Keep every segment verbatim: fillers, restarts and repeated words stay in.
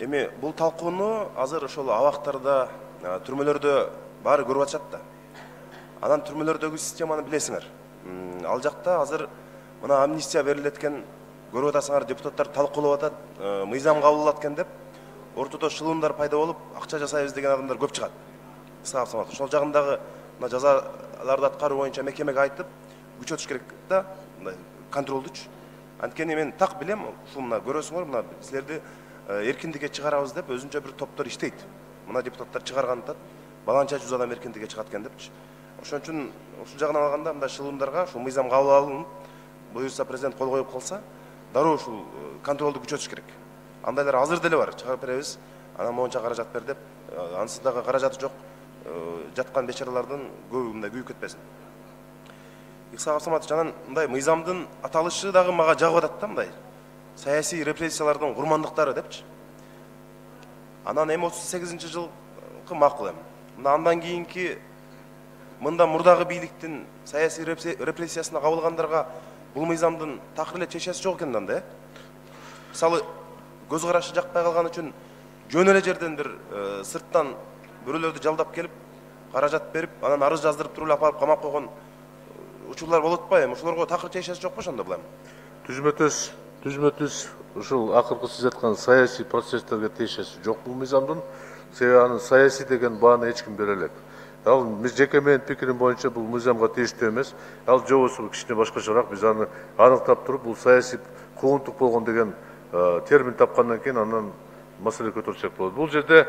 Эми бул талкууну азыр ошол абактарда, түрмөлөрдө баары көрүп атышат да. Анан түрмөлөрдөгү системаны билесиңер. Ал жакта азыр мына амнистия берилеткен, көрүп атасыңар, депутаттар талкуулап атат, мыйзам кабыл экен деп, ортодо шылымдар пайда болуп, акча жасайбыз деген адамдар көп чыгат. Исаап самат. Ошол жагындагы мына жазаларды аткаруу боюнча мекемеге айтып, күчөтүш керек да, мындай контролдучу. Анткени мен так билем, ушул мына көрөсүңөр, мына силерди эркиндикке чыгарабыз деп өзүнчө бир топтор иштейт. Мына депутаттар чыгарган атат, баланча жүз адам эркиндикке чыгат экен депчи. Ошон үчүн ушул жагынан алганда мындай шылымдарга ушул мыйзам кабыл алынып, буюрса президент кол коюп калса, дароо ушул контролду күчөтүш керек. Андайлар азыр деле бар, чыгарып беребиз, анан моунча каражат бер деп, ансыз дагы каражаты жок жаткан бечаралардын көбү мындай күйүп кетпесин. Исаап Саматович, анан мындай мыйзамдын аталышы дагы мага жагып атат да, мындай саясий репрессиялардын курмандыктары депчи. Анан эми отуз сегизинчи жылкы макул эми. Мына андан кийинки мында мурдагы бийликтин саясий репрессиясына кабылгандарга бул мыйзамдын такыр эле чечеси жок экен да, э? Мисалы, көз карашы жакпай калган үчүн жөн эле жерден бир сырттан бирөөлөрдү жалдап келип, каражат берип, анан арыз жаздырып туруп алып камап койгон учурлар болуп атпайбы? Ошолорго такыр чечеси жокпу ошондо булам? Түзмө-түз, түзмө-түз ушул акыркы сиз айткан саясий процесстерге тиешеси жок бул мыйзамдын. Себеби анын саясий деген бааны эч ким бере элек. Ал жеке менин пикирим боюнча бул мыйзамга тийиштүү эмес. Ал жобосу кичине башкачараак, биз аны аныктап туруп, бул саясий куугунтук болгон деген термин тапкандан кийин анан маселе көтөрсөк болот. Бул жерде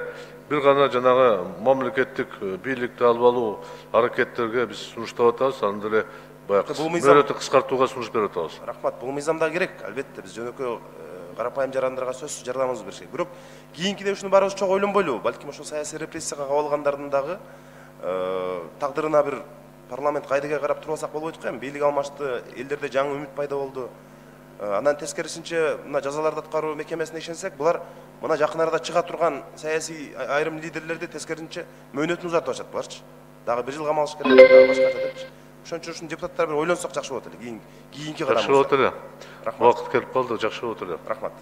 бир гана жанагы мамлекеттик бийликти алып алуу аракеттерге биз сунуштап атабыз, аны деле баягы мөөнөтү кыскартууга сунуш берип атабыз. Рахмат, бул мыйзамда керек, албетте биз жөнөкөй карапайым жарандарга сөзсүз жардамыбызды беришек. Бирок кийинкиде ушуну баарыбыз чогуу ойлонбойлубу? Балким ошол саясий репрессияга кабылгандардын дагы тагдырына бир парламент кайдыга карап туруп алсак болбойт го эми? Бийлик алмашты, элдерде жаңы үмүт пайда болду. Андан тескерисинче мына жазаларды аткаруу мекемесине ишенсек, булар мына жакын арада чыга турган саясий айрым лидерлерди тескерисинче мөөнөтүн узартып атышат буларчы. Дагы бир жыл камалыш керек, дагы башкача депчи. Ошон үчүн ушуну депутаттар бир ойлонсок жакшы болот эле. Кийинки кадам. Жакшы болот эле. Убакыт келип калды, жакшы болот эле. Рахмат.